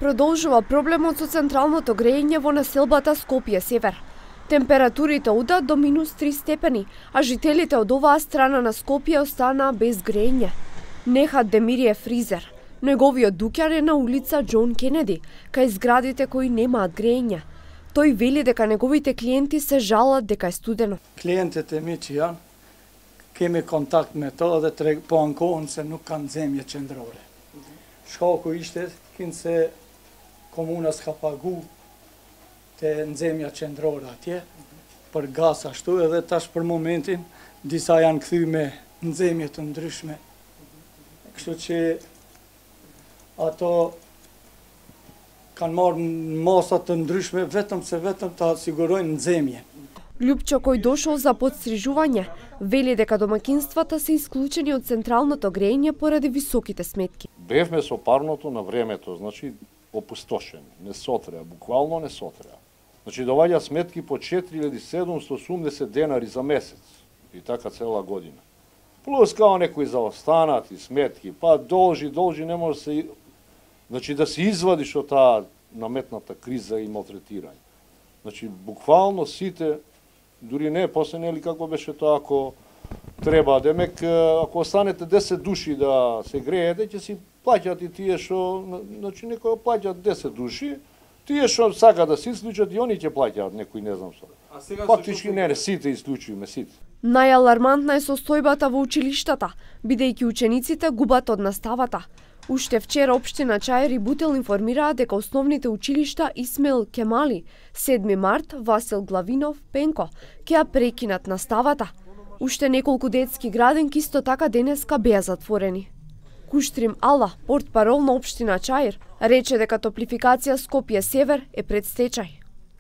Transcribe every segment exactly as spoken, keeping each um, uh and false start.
Продолжува проблемот со централното грејење во населбата Скопје Север. Температурите одат до минус три степени, а жителите од оваа страна на Скопје останаа без грејење. Нехат Демирие фризер. Неговиот дуќан е на улица Џон Кенеди, кај зградите кои немаат грејење. Тој вели дека неговите клиенти се жалат дека е студено. Клиентите ми чија кеми контакт ме тоа да трек по анкоон се nuk kanë zemje qendrore. Shkaku ishte kin se komuna s'ka pagu te nxemja qendrore atje për gaz ashtu, edhe tash për momentin disa janë kthy me nxemje të ndryshme. Kështu që ato kanë marrë masa të ndryshme vetëm se vetëm ta sigurojnë nxemje. Љупчо кој дошол за подстрижување, вели дека домакинствата се исклучени од централното грејење поради високите сметки. Бевме со парното на времето, значи опустошени, не сотреа, буквално не сотреа. Значи доваѓа сметки по четири илјади седумстотини и осумдесет денари за месец и така цела година. Плюс као некои заостанати сметки, па должи, должи, не може се, значи да се извадиш од таа наметната криза и малтретирање. Значи буквално сите, дури не, после нели како беше тоа, ако треба, демек, ако останете десет души да се греете, ќе си плаќат и тие што, значи некои плаќат десет души, тие што сака да се исклучат и они ќе плаќаат некои, не знам што. Фактички не, не, сите исклучуваме, сите. Најалармантна е состојбата во училиштата, бидејќи учениците губат од наставата. Уште вчера општина Чаир и Бутел информираа дека основните училишта Исмаил Кемали, седми март, Васил Главинов, Пенко, ќе ја прекинат наставата. Уште неколку детски градинки исто така денеска беа затворени. Куштрим Ала, портпарол на општина Чаир, рече дека топлификација Скопје Север е пред стечај.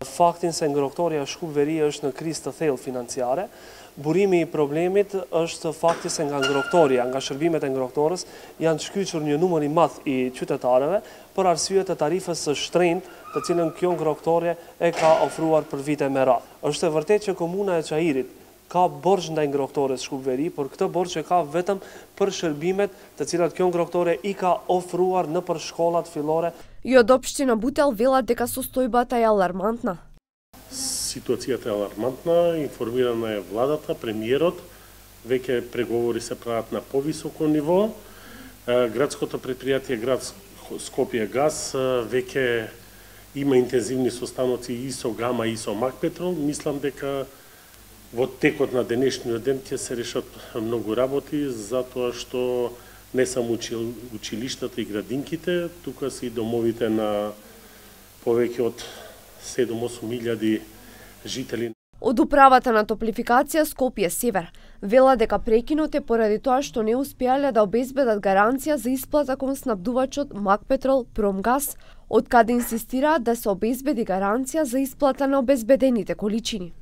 Фактин се нgrohtoria shkuperia është në krizë të thellë financiare. Burimi i problemit është fakti se nga ngrohtoria, nga shërbimet e ngrohtorës janë shkyqur një numër i madh i qytetarëve për arsye të tarifës së shtrenjtë, të cilën kjo ngrohtore e ka ofruar për vite me radhë. Është e vërtetë që komuna e Çajirit ka borxh ndaj ngrohtorës Shkupveri, por këtë borxh e ka vetëm për shërbimet të cilat kjo ngrohtore i ka ofruar nëpër shkollat fillore. И од општина Бутел велат дека состојбата е алармантна. Ситуацијата е алармантна, информирана е владата, премиерот, веќе преговори се прават на повисоко ниво. Градското предпријатие Град Скопје Газ веќе има интензивни состаноци и со Гама и со Макпетрол. Мислам дека во текот на денешниот ден ќе се решат многу работи, затоа што не само училиштата и градинките, тука се и домовите на повеќе од седум-осум илјади жители. Од управата на топлификација Скопје Север вела дека прекинот е поради тоа што не успеале да обезбедат гаранција за исплата кон снабдувачот Макпетрол Промгаз, од каде инсистираат да се обезбеди гаранција за исплата на обезбедените количини.